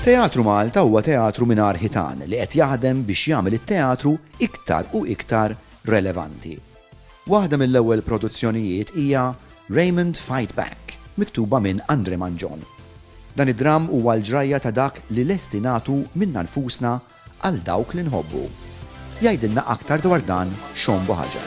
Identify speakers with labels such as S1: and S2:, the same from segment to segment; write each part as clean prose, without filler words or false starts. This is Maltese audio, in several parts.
S1: Teatru Malta huwa teatru mingħajr ħitan li qed jaħdem biex jagħmel it-teatru iktar u iktar relevanti. Waħda mill-ewwel produzzjonijiet hija Raymond Fight Back, miktuba minn Andre Mangion. Dan id-dramm huwa l-ġrajja ta' dak li lesti nagħtu minna nfusna għal dawk li nħobbu. Jgħidilna aktar dwar dan Sean Buhaġar.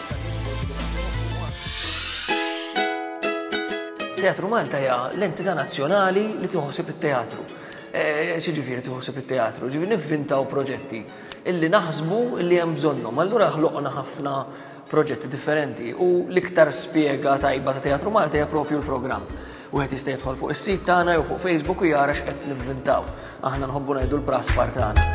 S2: Teatru Malta hija l-entità nazzjonali li tieħu ħsieb it-teatru. Eh, x'jiġifieri tieħu ħsieb it-teatru? Ġifieri nivvintaw proġetti illi naħsbu illi hemm bżonnhom. Allura ħloqna ħafna proġetti differenti u l-iktar spjega tajba ta' Teatru Malta hija propju l-programm. Wieħed jista' jidħol fuq is-sit tagħna jew fuq Facebook u jara x'qed nivvintaw. Aħna nħobbu ngħidu l-praspar tagħna.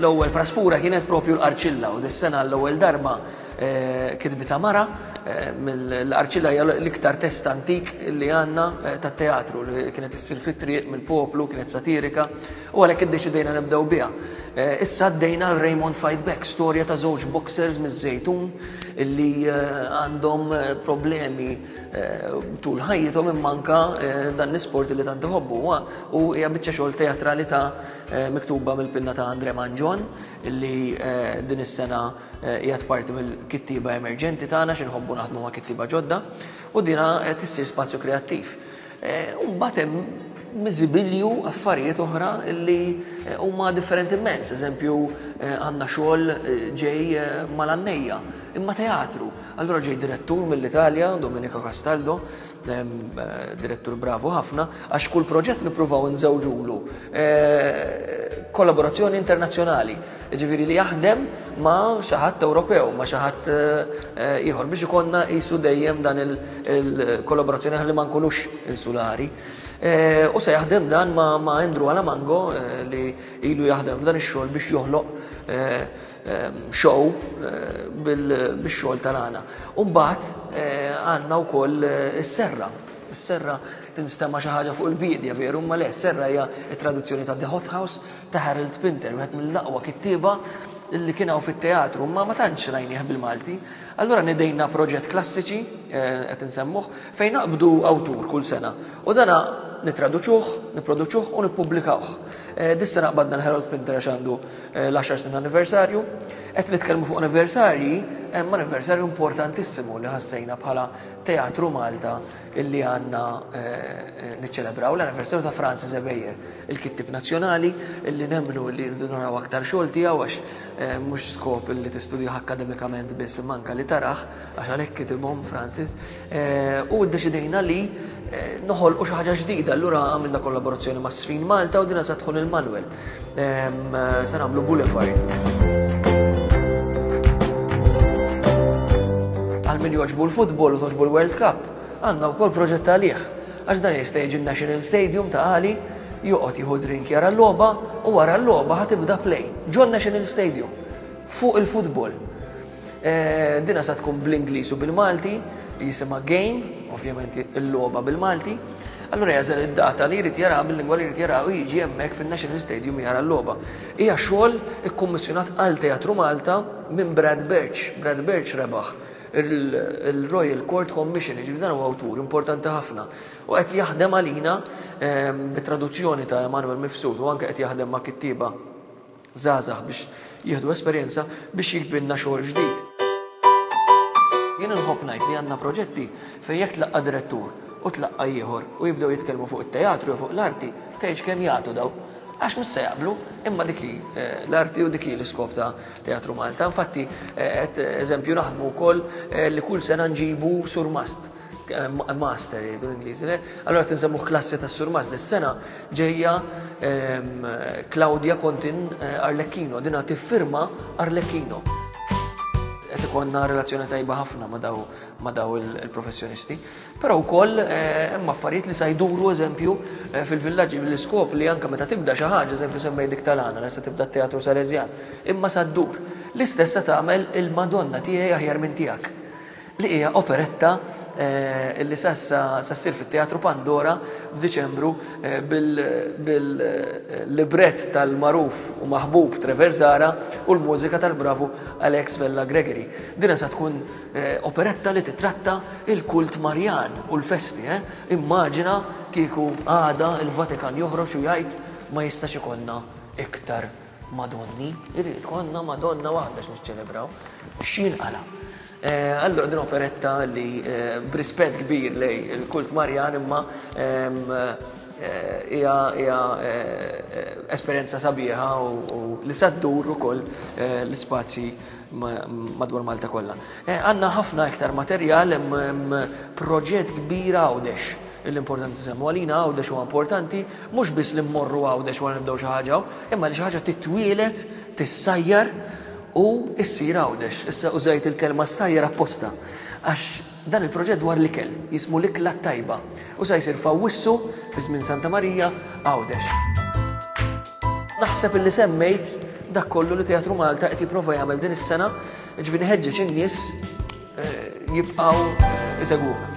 S2: L-ewwel praspura kienet propju l-Qarċilla u dis-sena l-ewwel darba eh, kitbita mara eh, mill-Qarċilla hija l-iktar test antik li għandna eh, tat-teatru li kienet issir fit-triq mill-poplu, kienet satirika u għalhekk iddeċidejna nibdew biha. Issa għaddejna għal Raymond Fight Back, storja ta' żewġ boxers miż-Żejtun illi għandhom problemi tul ħajjithom imma anka dan l-isport li tant iħobbu u hija biċċa xogħol teatrali ta' miktuba mill-pinna ta' Andre Mangion illi din is-sena qiegħed parti mill-kittieba emerġenti tagħna xi nħobbu naħdmu ma' kittieba ġodda u dina qed issir spazju kreattiv. U mbagħad hemm miżibilju affarijiet oħra li huma differenti immens. Eżempju, għandna xogħol ġej mal-għannejja, imma teatru. Allura ġej direttur mill-Italja, Domenico Castaldo, direttur bravu ħafna, għax kull proġett nippruvaw nżewġulu eh, kollaborazzjoni internazzjonali, ġifieri li jaħdem ma' xi ħadd Ewropew, ma' xi ħadd eh, ieħor biex ikollna qisu dejjem dan il-kollaborazzjoni ħalli ma nkunux insulari. Eh, u se jaħdem dan ma' Andrew Alamango li ilu jaħdem f'dan ix-xogħol biex joħloq show eh, bil-xogħol tal-għana. U mbagħad eh, għandna wkoll eh, is-serra. Is-serra tinstema' xi ħaġa fuq il-biedja veru, ma le, s-serra hija t-traduzzjoni ta' The Hot House ta' Harold Pinter, wieħed mill-aqwa kittieba li kien hawn fit-teatru, ma ma tantx rajnieh bil-Malti. Allura nidejna proġett klassiċi, qed insemmuh, fejn naqbdu awtur kull sena. U dana nitraduċuh, niproduċuh u nippubblikawh. Dis-sena qbadna l-Harold Pinter għax għandu l-għaxar snin anniversarju. Qed nitkellmu fuq anniversarji, hemm anniversarju importantissimu li ħassejna bħala Teatru Malta illi għandna eh, niċċelebraw l-anniversarju ta' Francis Ebejer, il-kittib nazzjonali illi nemmnu li rridu naraw aktar xogħol tiegħu għax eh, mhux skop illi tistudjah akkademikament biss imma anke li taraħ għax għalhekk kitibhom Francis. Eh, u ddeċidejna li eh, noħolqu xi ħaġa ġdida, allura għamilna kollaborazzjoni ma' Sfin Malta u dina sa tħun il-Manuel. Eh, se nagħmlu Boulevard. Għal min joġbu l-futbol u toġbu l-World Cup, għandna wkoll proġett għalih. Għax dan jista' jiġi National Stadium ta' għali, joqgħod jieħu drink jara l-logħba u wara l-logħba ħatibda play ġon National Stadium fuq il-futbol. Dina sa tkun bl-Ingliż u bil-Malti, jisimha Game, ovvjament il-logħba bil-Malti. Allura jażel id-data li jrid jara bil-lingwa li jrid jara u jiġi hemmhekk fin-National Stadium jara l-logħba. Hija xogħol ikkummissjonat għal Teatru Malta minn Brad Birch. Brad Birch rebaħ il-Royal Court Commission, jiġifieri dan huwa awtur importanti ħafna. U qed jaħdem għalina ehm, bit-traduzzjoni ta' Emanuel Mifsud u anke qed jaħdem ma' kittieba żgħażagħ biex jieħdu esperjenza biex jikbrilna xogħol ġdid. Jien inħobb ngħid li għandna proġetti fejn jekk tlaqqa' direttur u tlaqqa' ieħor u jibdew jitkellmu fuq it-teatru jew fuq l-arti, tgħidx kemm jagħtu daw. Għax mhux se jaqblu, imma dik hi eh, l-arti u dik hi l-iskop ta' Teatru Malta. Infatti, eh, qed eżempju naħdmu wkoll eh, li kull sena nġibu surmast master jgħidu l-Ingliżi, le? Allora tinsemmuh klassi ta' surmas dis-sena ġejja ehm, Claudia Contin eh, Arlecchino, dina tiffirma Arlecchino. Qed ikollna relazzjoni tajba ħafna ma' daw ma' daw il-professjonisti. Però wkoll eh, hemm affarijiet li sa jduru eżempju eh, fil-villaġġi bl-iskop li anke meta tibda xi ħaġa, eżempju semmej dik tal-għana, se tibda t-teatru Salesjan, imma sa ddur. L-istess se tagħmel il-Madonna tiegħi aħjar minn tiegħek. Li hija operetta li sa ssir fit-Teatru Pandora f'Diċembru bil-librett tal-magħruf u maħbub Trevor Zahra u l-mużika tal-bravu Alex Vella Gregory. Dina sa tkun operetta li titratta il-kult Marjan u l-festi. Immaġina kieku għada il-Vatikan joħroġ u jgħid ma jistax ikollna iktar Madonni, irrid ikollna Madonna waħda x'niċċelebraw. X'jinqala'? Allura din operetta li b'rispett kbir lej il-kult Marjan imma hija hija esperjenza sabiħa u li sa ddur ukoll l-ispazji madwar Malta kollha. Għandna ħafna iktar materjal, hemm proġett kbir Għawdex l-importanti semmu għalina Għawdex huwa importanti mhux biss li mmorru Għawdex wara nibdew xi ħaġa, imma li xi ħaġa titwielet, tissajjar u issir Għawdex. Issa użajt il-kelma ssajjar apposta għax dan il-proġett dwar l-ikel, jismu l-ikla tajba u sa jsir f'Awwissu fi żmien Santa Marija Għawdex. Naħseb illi semmejt dak kollu li Teatru Malta qed jipprova jagħmel din is-sena, ġifieri ħeġġeġ in-nies jibqgħu isegwuna.